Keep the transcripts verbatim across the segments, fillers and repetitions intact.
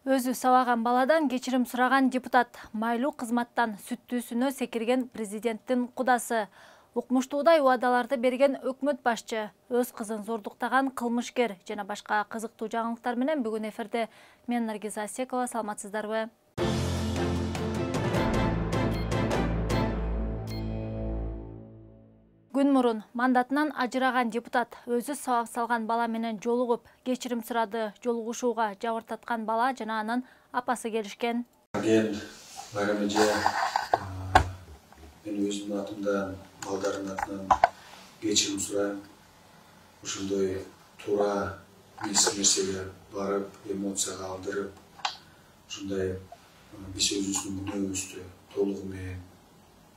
Өзү сабаган баладан кечирим сураган депутат, майлуу кызматтан сүттүүсүнө секирген президенттин кудасы, укмуштуудай убадаларды берген өкмөт башчы, өз кызын зордуктаган кылмышкер жана башка кызыктуу жаңылыктар менен бүгүн эфирде мен Наргиз Асекова, саламатсыздарбы? Күн мурун мандатынан ажыраган депутат өзү сабак салган бала менен жолугуп, кечирим сурады. Жолугушууга жабыртаткан бала жана анын апасы келишкен. Мен Байрам эже, мен өзүмдүн атымдан, балдардын атынан кечирим сурайм. Ушундай туура нерсеге барып, эмоцияга алдырып, ушундай биз өзүбүздүн күнөөбүздү толугу менен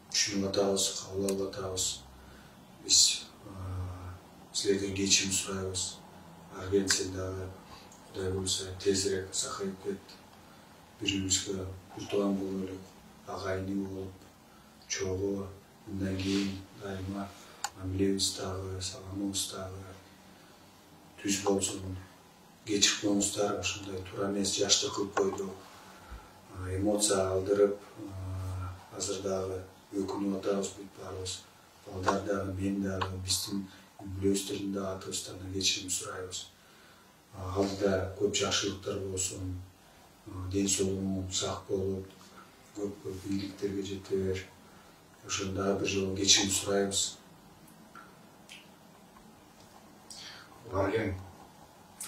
түшүнүп атабыз, кабыл алып атабыз. Biz sizlerden geçim surayız. Argentin dağı, Kuday olsa tezrek sakayıp ket. Birimizge kurtulan boluluk, ağayını olup, çoğu, bundan keyin daima amilemiz dağı, salamımız dağı, tüz bolsun, geçikmemiz dağı, şunday turamez yaşta kılıp koydu. Emotsiya aldırıp, hazır dağı, ökünü atağız, büyük Балдар дагы, мен дагы, биздин үлөстөрдүн дагы атыбыздан кечирим сурайбыз. Алдыда көп жакшылыктар болсун, ден соолугуң сак болуп, көп-көп ийгиликтерге жете бер. Ошондо бир жолу кечирим сурайбыз. Барген,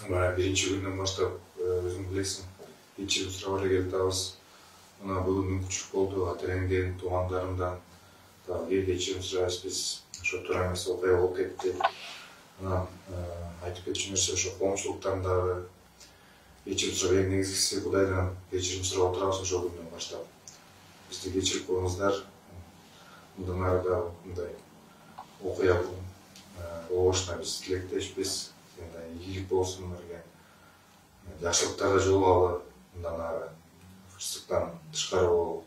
бара биринчи күндөн баштап өзүң билесиң, кечирим сурап эле келатабыз. Мына бүгүн мүмкүнчүлүк болду, ата-энемден, туугандарымдан Ел кечирим сурайбыз, биз ошо туура эмес окуя болуп кетти. Анан айтып кетчү нерсе ошо коомчулуктан дагы кечирим сурап, эң негизгиси Кудайдан кечирим сурап отурабыз ошол күндөн баштап. Бизди кечирип коюңуздар. Мындан ары дагы мындай окуя болушуна биз тилектешпиз. Ийгилик болсун эле. Жакшылыктарга жолугалы, мындан ары кырсыктан тышкары болобу.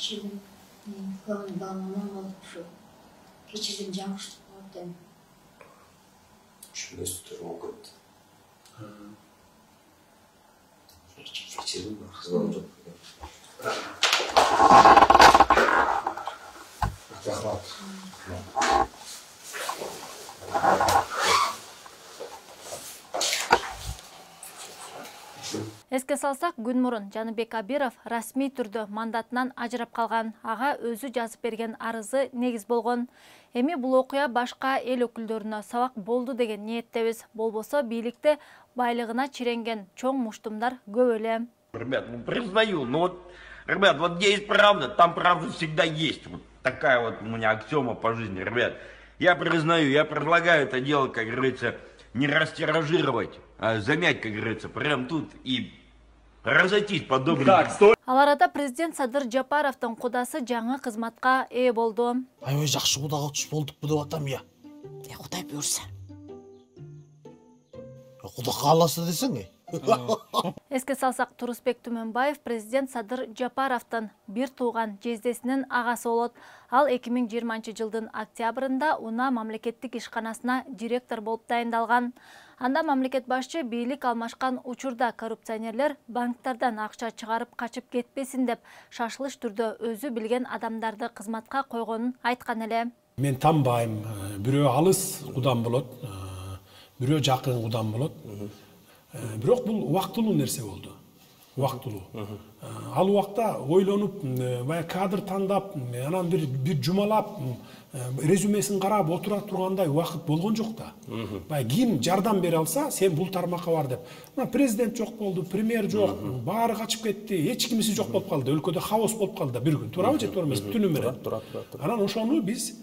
Geçirdim. Kalan bağlamam oldu şu. Geçirdim canmıştık orada. Şunu tutuyorum o kadar. Geçirdim mi? Kızım çok. Rahmat. Эске салсак, күн мурун Жаныбек Абиров расмий түрдө мандатынан ажырап калган. Ага өзү жазып берген арызы негиз болгон. Эми бул окуя башка эл өкүлдөрүнө сабак болду деген ниеттебиз. Болбосо бийликте байлыгына чиренген чоң муштумдар көп эле. Ребят, ну признаю, ну вот, ребят, вот где есть правда, там правда всегда есть. Вот такая вот у меня аксиома по жизни, ребят. Я признаю, я предлагаю это дело, как говорится, не растиражировать, а замять, как говорится, прям тут и разойтись подобно. Ал арада президент Садыр Жапаровдун кудасы жаңы кызматка ээ болду. Аябай жакшы кудага туш болдукпу деп атам я. E Kuday buyursa. Куда кааласа десең э. Эске салсак, Турусбек Түмөнбаев президент Садыр Жапаровдун бир тууган жездесинин агасы болот. Ал эки миң жыйырманчы жылдын октябрында Уна мамлекеттик ишканасына директор болуп дайындалган. Анда мамлекет башчы бийлик алмашкан учурда коррупционерлер банктардан акча чыгарып качып кетпесин деп шашылыш түрдө өзү билген адамдарды кызматка койгонун айткан эле. Мен танбайм, бирөө алыс кудам болот, бирөө жакын кудам болот. Бирок бул убактылуу нерсе болду. Убактылуу. Ал убакта ойлонуп, баягы кадр тандап, анан бир бир жумалап, резюмесин карап отура тургандай убакыт болгон жок да. Баягы ким жардам бере алса, сен бул тармакка бар деп. Мына президент жок болду, премьер жок, баары качып кетти, эч кимиси жок болуп калды. Өлкөдө хаос болуп калды бир күн. Туурабы же туура эмеспи? Түнү менен. Анан ошону биз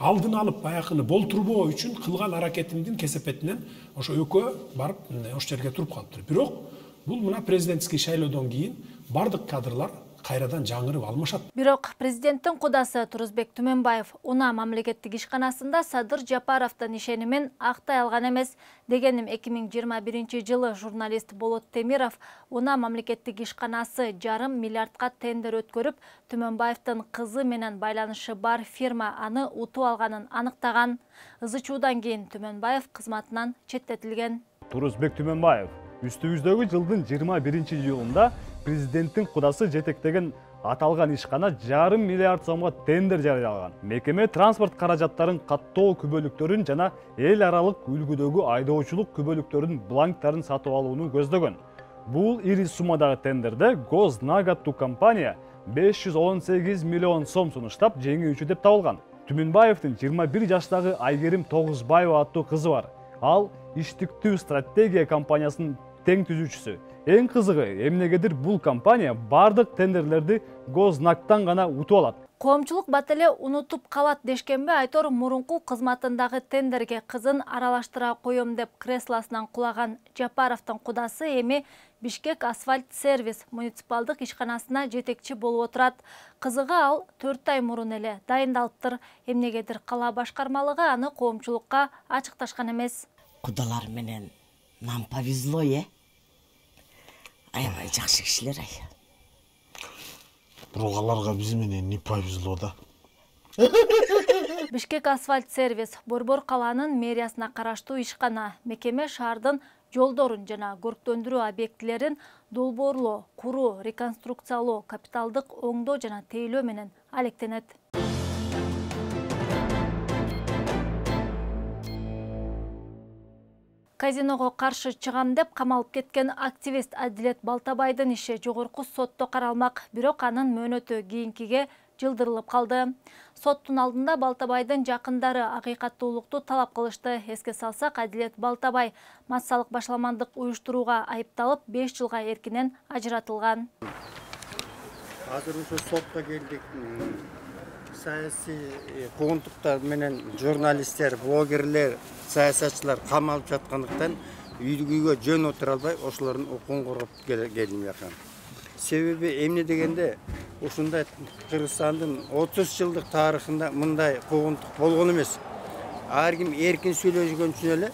алдын алып баягыны болтурбоо үчүн кылган аракетимдин кесепетинен ошо экөө барып ошол жерге туруп калыптыр. Бирок бул мына президентский шайлоодон кийин бардык кадрлар кайрадан жаңырып алмашат. Бирок президенттин кудасы Турузбек Түмөнбаев Уна мамлекеттик ишканасында Садыр Жапаровдун ишенимин актай алган эмес. Дегеним эки миң жыйырма биринчи жылы журналист Болот Темиров Уна мамлекеттик ишканасы жарым миллиардка тендер өткөрүп, Түмөнбаевдин кызы менен байланышы бар фирма аны утуп алганын аныктаган. Ызы чуудан кийин Түмөнбаев кызматынан четтетилген. Турузбек Түмөнбаев үстүбүздөгү жылдын жыйырма биринчи июлунда президенттин кудасы жетектеген аталган ишкана жарым миллиард сомго тендер жарыялаган. Мекеме транспорт каражаттарын каттоо күбөлүктөрүн жана эл аралык үлгүдөгү айдоочулук күбөлүктөрүнүн бланктарын сатып алууну көздөгөн. Бул ири суммадагы тендерде Гознагаттуу компания беш жүз он сегиз миллион сом сунуштап жеңүүчү деп табылган. Түмөнбаевдин жыйырма бир жаштагы Айгерим Тогузбаева аттуу кызы бар. Ал иштиктүү стратегия компаниясынын тең түзүүчүсү. Эң кызыгы, эмнегедир бул компания бардык тендерлерди Гознактан гана утуп алат. Коомчулук бат эле унутуп калат дешкенби, Айтор мурунку кызматындагы тендерге кызын аралаштыра коем деп креслосунан кулаган Жапаровдун кудасы эми Бишкек асфальт сервис муниципалдык ишканасына жетекчи болуп отурат. Кызыгы ал төрт ай мурун эле дайындалыптыр. Эмнегедир кала башкармалыгы аны коомчулукка ачыкташкан эмес. Кудалар менен нам повезло, э? Аябай жакшы кишилер ай. Бирок аларга биз менен не повезло да. Бишкек асфальт сервис Борбор каланын мэриясына караштуу ишкана. Мекеме шаардын жолдорун жана көрктөндүрүү объектилерин долбоорлоо, куруу, реконструкциялоо, капиталдык оңдоо жана тейлөө менен алектенет. Казиного каршы чыгам деп камалып кеткен активист Адилет Балтабайдын иши жогорку сотто каралмак, бирок анын мөөнөтү кийинкиге жылдырылып калды. Соттун алдында Балтабайдын жакындары акыйкаттуулукту талап кылышты. Эске салсак, Адилет Балтабай массалык башаламандык уюштурууга айыпталып беш жылга эркинен ажыратылган. Азыр ошо сотко келдик. Саясий куугунтуктар менен журналисттер, блогерлер, саясатчылар камалып жаткандыктан үйгө жөн отура албай ошолордун укугун коргоп келдим жакан. Себеби эмне дегенде, ушундай Кыргызстандын отуз жылдык тарыхында мындай куугунтук болгон эмес. Ар ким эркин сүйлөшкөн үчүн эле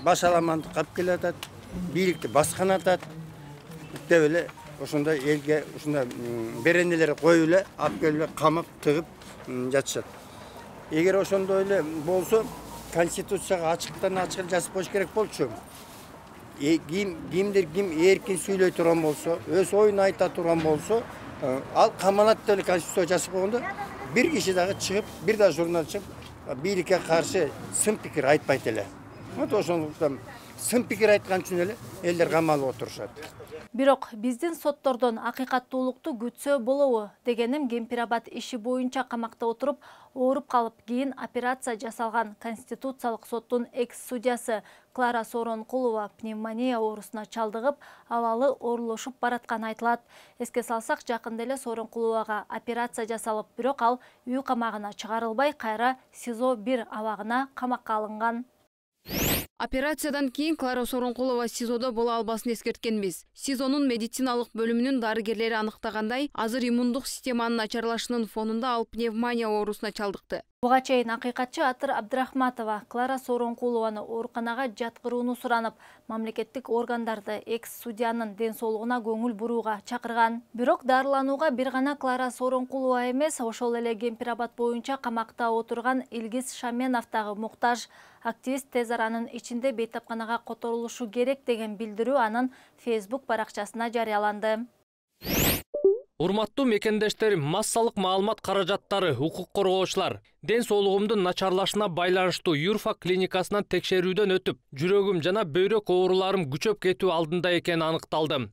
башаламандык алып келатат, бийликти баскан атат деп эле ошондой элге ушундай беренелер коюп эле алып келип камап тыгып жатышат. Эгер ошондой эле болсо, конституцияга ачыктан ачык жазып коюш керек болчу. Ким кимдир ким эркин сүйлөй турган болсо, өз оюн айта турган болсо, ал камалат деп эле конституция жазып койгондо, бир киши дагы чыгып, бир да журналист чыгып, бийликке каршы сын пикир айтпайт эле. Вот ошондуктан сын пикир айткан үчүн эле элдер камалып отурушат. Бирок биздин соттордон акыйкаттуулукту күтсө болобу дегеним, Кемпирабад иши боюнча камакта отуруп, ооруп калып кийин операция жасалган Конституциялык соттун экс-судьясы Клара Сооронкулова пневмония оорусуна чалдыгып, абалы оорлошуп баратканы айтылат. Эске салсак, жакында эле Сооронкуловага операция жасалып, бирок ал үй камагына чыгарылбай, кайра СИЗО бир абагына камакка алынган. Операциядан кийин Клара Сооронкулова СИЗОдо боло албасын эскерткенбиз. СИЗОнун медициналык бөлүмүнүн дарыгерлери аныктагандай, азыр иммундук системанын начарлашынын фонунда ал пневмония оорусуна чалдыкты. Буга чейин акыйкатчы Атыр Абдрахматова Клара Сооронкулованы ооруканага жаткырууну суранып, мамлекеттик органдарды экс-судьянын ден соолугуна көңүл бурууга чакырган. Бирок дарыланууга бир гана Клара Сооронкулова эмес, ошол эле Кемпирабад боюнча камакта отурган Илгиз Шаменов дагы муктаж. Активист тез аранын ичинде бейтапканага которулушу керек деген билдирүү анын Facebook баракчасына жарыяланды. Урматтуу мекендештер, массалык маалымат каражаттары, укук коргоочулар, ден соолугумдун начарлашына байланыштуу Юрфак клиникасынан текшерүүдөн өтүп, жүрөгүм жана бөйрөк ооруларым күчөп кетүү алдында экени аныкталды.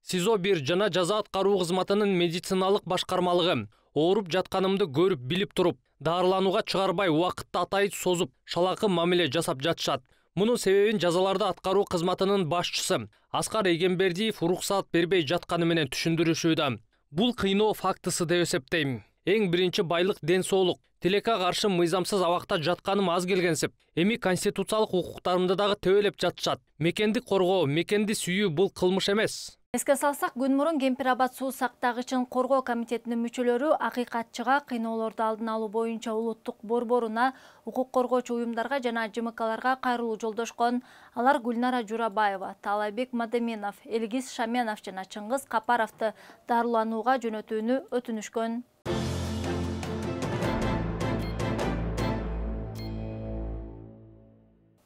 СИЗО бир жана жаза аткаруу кызматынын медициналык башкармалыгы ооруп жатканымды көрүп билип туруп, дарыланууга чыгарбай убакытты атайын созуп, шалакы мамиле жасап жатышат. Мунун себебин жазаларды аткаруу кызматынын башчысы Аскар Эгембердиев уруксаат бербей жатканы менен түшүндүрүшүүдө. Бул кыйноо фактысы деп эсептейм. Эң биринчи байлык ден соолук. Тилекке каршы мыйзамсыз абакта жатканым аз келгенсип, эми конституциялык укуктарымды дагы төбөлөп жатышат. Мекенди коргоо, мекенди сүйүү бул кылмыш эмес. Эске салсак, күн мурун Кемпир Абад суу сактагычын коргоо комитетинин мүчөлөрү акыйкатчыга кыйноолорду алдын алуу боюнча улуттук борборуна, укук коргоочу уюмдарга жана Ж М Кларга кайрылуу жолдошкон. Алар Гүлнара Журабаева, Таалайбек Мадеминов, Элгиз Шаменов жана Чыңгыз Капаровду дарыланууга жөнөтүүнү өтүнүшкөн.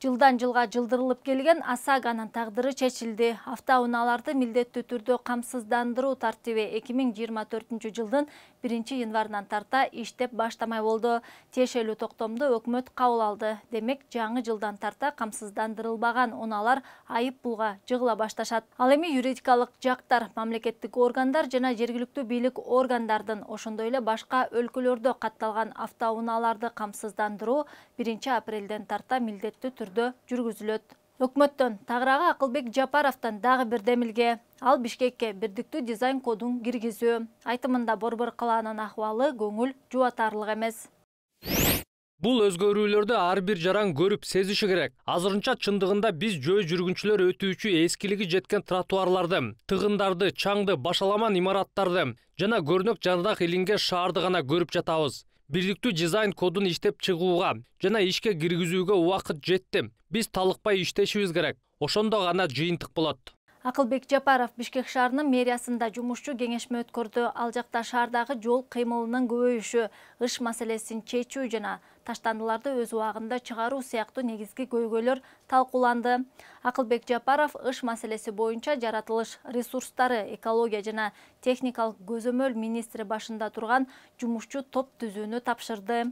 Жылдан жылга жылдырылып келген ОСАГОнун тагдыры чечилди. Автоунааларды милдеттүү түрдө камсыздандыруу тартиби эки миң жыйырма төртүнчү жылдын биринчи январынан тарта иштеп баштамай болду. Тиешелүү токтомду өкмөт кабыл алды. Демек, жаңы жылдан тарта камсыздандырылбаган унаалар айып пулга жыгыла башташат. Ал эми юридикалык жактар, мамлекеттик органдар жана жергиликтүү бийлик органдардын, ошондой эле башка өлкөлөрдө катталган автоунааларды камсыздандыруу биринчи апрелден тарта милдеттүү түрдө жүргүзүлөт. Өкмөттөн тагыраагы Акылбек Жапаровдон дагы бир демилге. Ал Бишкекке бирдиктүү дизайн кодун киргизүү. Айтымында Борбор калаанын ахыбалы көңүл жубатарлык эмес. Бул өзгөрүүлөрдү ар бир жаран көрүп сезиши керек. Азырынча чындыгында биз жөө жүргүнчүлөр өтүүчү эскилиги жеткен тротуарларды, тыгындарды, чаңды, башаламан имараттарды жана көрнөк жардак илинген шаарды гана көрүп жатабыз. Бирдиктүү дизайн кодун иштеп чыгууга жана ишке киргизүүгө убакыт жетти. Биз талыкпай иштешибиз керек. Ошондо гана жыйынтык болот. Акылбек Жапаров Бишкек шаарынын мэриясында жумушчу кеңешме өткөрдү. Ал жакта шаардагы жол кыймылынын көбөйүшү, ыш маселесин чечүү жана таштандыларды өз убагында чыгаруу сыяктуу негизги көйгөйлөр талкууланды. Акылбек Жапаров ыш маселеси боюнча жаратылыш ресурстары, экология жана техникалык көзөмөл министри башында турган жумушчу топ түзүүнү тапшырды.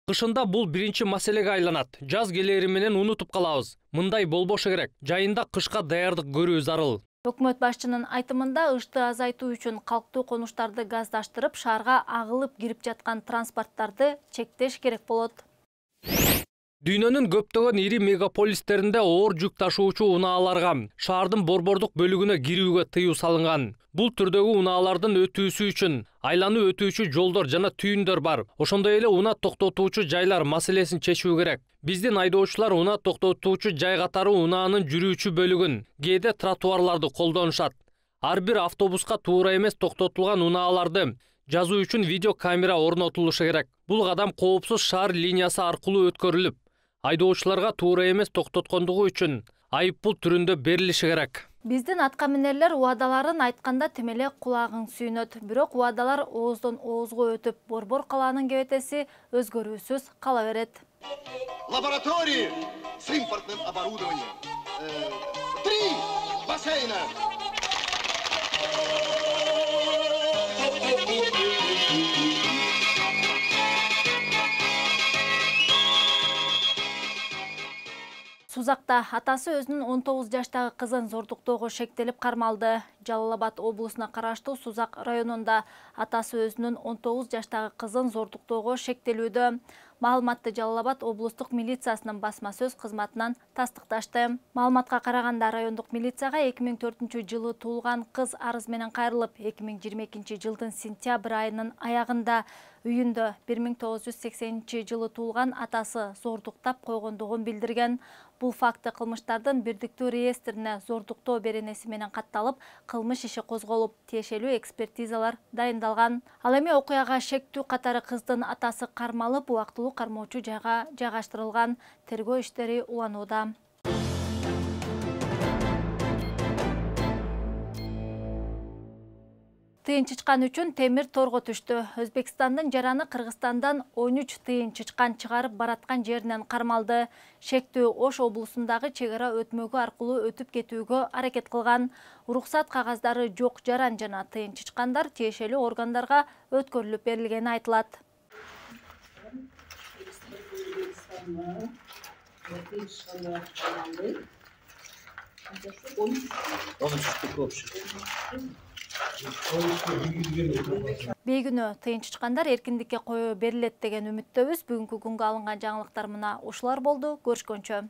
Кышында бул биринчи маселеге айланат. Жаз келери менен унутуп калабыз. Мындай болбошу керек. Жайында кышка даярдык көрүү зарыл. Өкмөт башчынын айтымында ышты азайтуу үчүн калктуу конуштарды газдаштырып, шаарга агылып кирип жаткан транспорттарды чектеш керек болот. Дүйнөнүн көптөгөн ири мегаполистеринде оор жүк ташуучу унааларга шаардын борбордук бөлүгүнө кирүүгө тыюу салынган. Бул түрдөгү унаалардын өтүүсү үчүн айлануу өтүүчү жолдор жана түйүндөр бар. Ошондой эле унаа токтотуучу жайлар маселесин чечүү керек. Биздин айдоочулар унаа токтотуучу жай катары унаанын жүрүүчү бөлүгүн, кээде тротуарларды колдонушат. Ар бир автобуска туура эмес токтотулган унааларды жазуу үчүн видео камера орнотулушу керек. Бул кадам коопсуз шаар линиясы аркылуу өткөрүлүп, айдоочуларга туура эмес токтоткондугу үчүн айыппул түрүндө берилиши керек. Биздин аткаминерлер убадаларын айтканда тим эле кулагың сүйнөт. Бирок убадалар ооздон оозго өтүп, Борбор калаанын кебетеси өзгөрүүсүз кала берет. Лаборатории с импортным оборудованием. Три бассейна. Сузакта атасы өзүнүн он тогуз жаштагы кызын зордуктоого шектелип кармалды. Жалал Абад облусуна караштуу Сузак районунда атасы өзүнүн он тогуз жаштагы кызын зордуктоого шектелүүдө. Маалыматты Жалал Абад облустук милициясынын басма сөз кызматынан тастыкташты. Маалыматка караганда райондук милицияга эки миң төртүнчү жылы туулган кыз арыз менен кайрылып, эки миң жыйырма экинчи жылдын сентябрь айынын аягында үйүндө бир миң тогуз жүз сексенинчи жылы туулган атасы зордуктап койгондугун билдирген. Бул факты кылмыштардын бирдиктүү реестрине зордуктоо беренеси менен катталып, кылмыш иши козголуп, тиешелүү экспертизалар дайындалган. Ал эми окуяга шектүү катары кыздын атасы кармалып, убактылуу кармоочу жайга жайгаштырылган. Тергөө иштери уланууда. Тыйын чычкан үчүн темир торго түштү. Өзбекстандын жараны Кыргызстандан он үч тыйын чычкан чыгарып бараткан жеринен кармалды. Шектүү Ош облусундагы чек ара өтмөгү аркылуу өтүп кетүүгө аракет кылган. Уруксат кагаздары жок жаран жана тыйын чычкандар тиешелүү органдарга өткөрүлүп берилгени айтылат. Бейгүнү тыйын чычкандар эркиндикке коюу берилет деген үмүттөбүз. Бүгүнкү күнгө алынган жаңылыктар мына ушулар болду. Көрүшкөнчө.